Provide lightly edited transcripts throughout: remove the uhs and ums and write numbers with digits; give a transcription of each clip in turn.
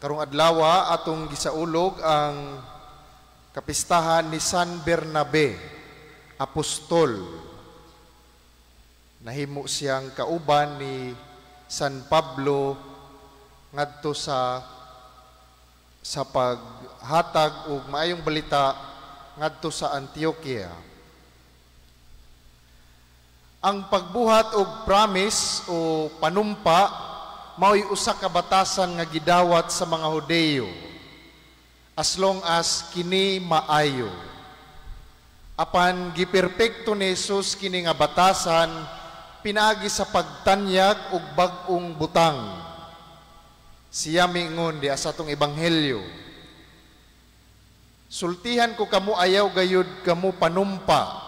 Karong adlawa, atong gisaulog ang kapistahan ni San Bernabe, apostol. Nahimo siyang kauban ni San Pablo ngadto sa paghatag og maayong balita ngadto sa Antioquia. Ang pagbuhat og promise o panumpa mao'y usa ka batasan nga gidawat sa mga Hudeyo as long as kini maayo. Apan giperpekto ni Jesus kini nga batasan pinaagi sa pagtanyag og bag-ong butang. Siya miingon diha sa atong ebanghelyo, "Sultihan ko kamo, ayaw gayud kamo panumpa.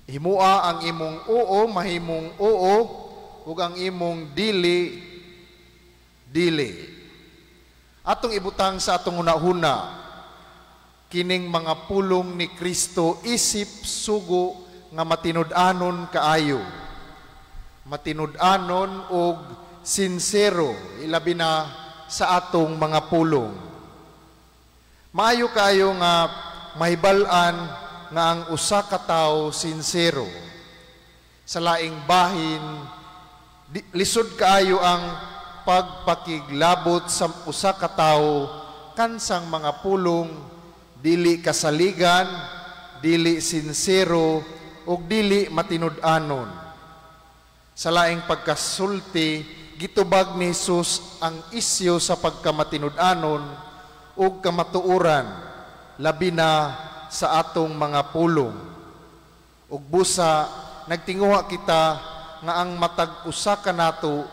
Himua ang imong oo mahimong oo ug ang imong dili, dili." Atong ibutang sa atong hunahuna kining mga pulong ni Kristo isip sugo nga matinud-anon kaayo. Matinud-anon og sinsero, ilabi na sa atong mga pulong. Maayo kaayo nga mahibal-an nga ang usa ka tawo sinsero. Sa laing bahin, lisod kaayo ang pagpakiglabot sa usa ka tawo kansang mga pulong dili kasaligan, dili sinsero ug dili matinud-anon. Sa laing pagkasulti, gitubag ni Jesus ang isyu sa pagkamatinud-anon ug kamatuoran, labi na sa atong mga pulong. Ug busa nagtinguha kita nga ang matag usa kanato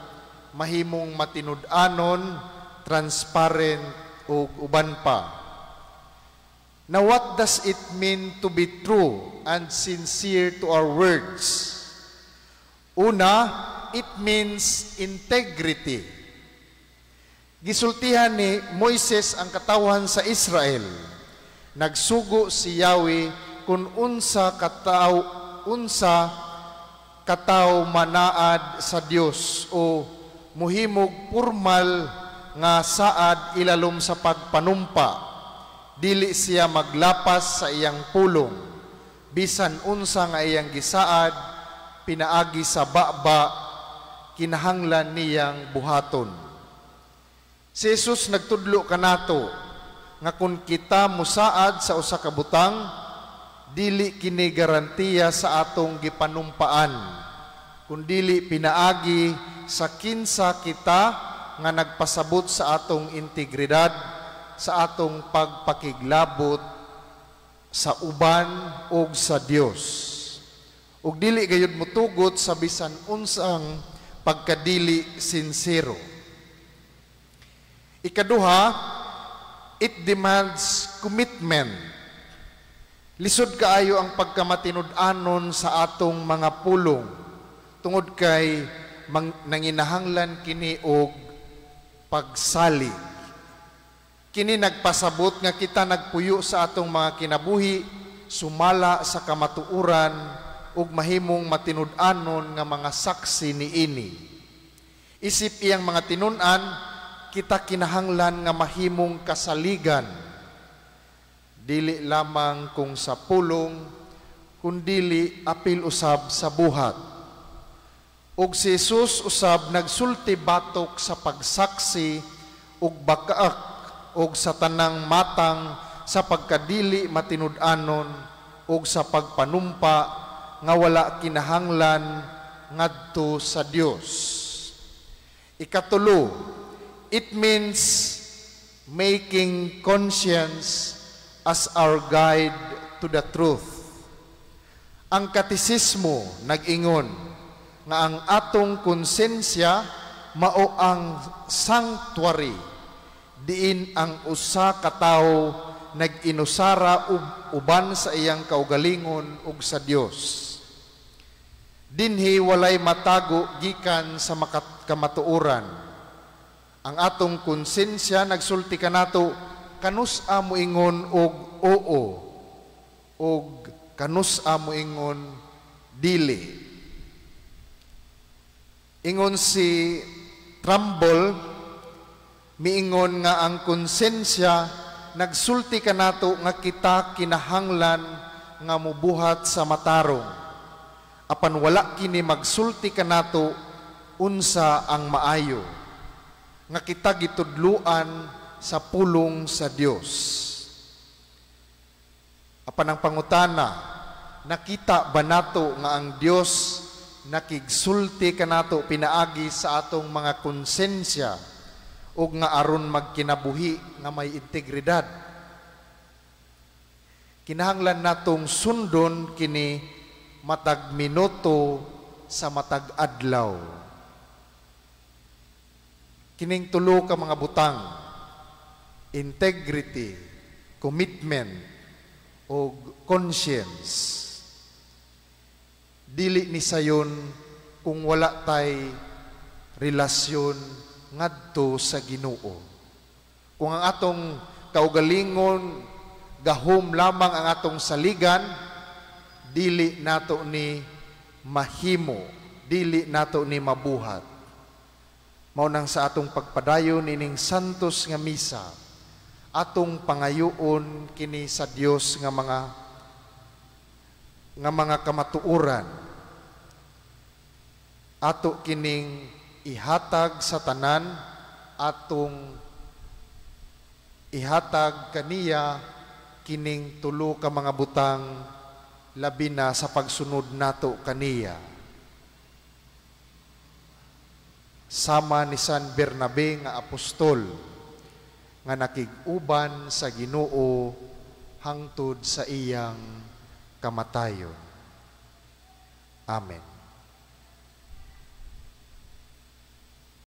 mahimong matinud-anon, transparent ug uban pa. Now, what does it mean to be true and sincere to our words? Una, it means integrity. Gisultihan ni Moises ang katawhan sa Israel. Nagsugo si Yahweh kung unsa katawo manaad sa Dios o muhimog formal nga saad ilalom sa pagpanumpa. Dili siya maglapas sa iyang pulong. Bisan unsa nga iyang gisaad pinaagi sa baba, kinahanglan niyang buhaton. Si Jesus nagtudlo kanato nga kung kita musaad sa usa ka butang, dili kini garantiya sa atong gipanumpaan, kundili pinaagi sa kinsa kita nga nagpasabot sa atong integridad sa atong pagpakiglabot sa uban ug sa Dios. Ug dili gayud motugot sa bisan unsang pagkadili sinsero. Ikaduha, it demands commitment. Lisod kaayo ang pagkamatinud-anon sa atong mga pulong tungod kay nanginahanglan kini og pagsalig. Kini nagpasabot nga kita nagpuyo sa atong mga kinabuhi sumala sa kamatuoran ug mahimong matinud-anon nga mga saksi niini. Isip iyang mga tinun-an, kita kinahanglan nga mahimong kasaligan. Dili lamang kung sa pulong, kundili apil usab sa buhat. Ug si Jesus usab nagsulti batok sa pagsaksi ug bakaak ug sa tanang matang sa pagkadili matinud-anon ug sa pagpanumpa nga wala kinahanglan ngadto sa Dios. Ikatulo, it means making conscience as our guide to the truth. Ang katisismo nag-ingon nga ang atong konsensya mao ang sanctuary diin ang usa ka tawo nag-inusara uban sa iyang kaugalingon ug sa Dios. Dinhi walay matago gikan sa kamatuoran. Ang atong konsensya nagsulti kanato kanus-a moingon og oo og kanus-a moingon dili. Ingon si Trumbull, Miingon nga ang konsensya nagsulti kanato nga kita kinahanglan nga mubuhat sa matarong. Apan wala kini magsulti kanato unsa ang maayo nga kita gitudluan sa pulong sa Dios. Apan ang pangutana, nakita ba nato nga ang Dios nakigsulti kanato pinaagi sa atong mga konsensya ug nga aron magkinabuhi nga may integridad? Kinahanglan natong sundon kini matag minuto sa matag adlaw. Kining tulo ka mga butang, integrity, commitment, o conscience, dili ni sayon kung wala tay relasyon ngadto sa Ginoo. Kung ang atong kaugalingon gahom lamang ang atong saligan, dili nato ni mahimo, dili nato ni mabuhat. Mao nang sa atong pagpadayon nining santos nga misa, atong pangayoon kini sa Dios nga mga kamatuoran. Ato kining ihatag sa tanan, atong ihatag kaniya kining tulo ka mga butang, labi na sa pagsunod nato kaniya. Sama ni San Bernabe nga apostol nga nakig-uban sa Ginoo hangtod sa iyang kamatayon. Amen.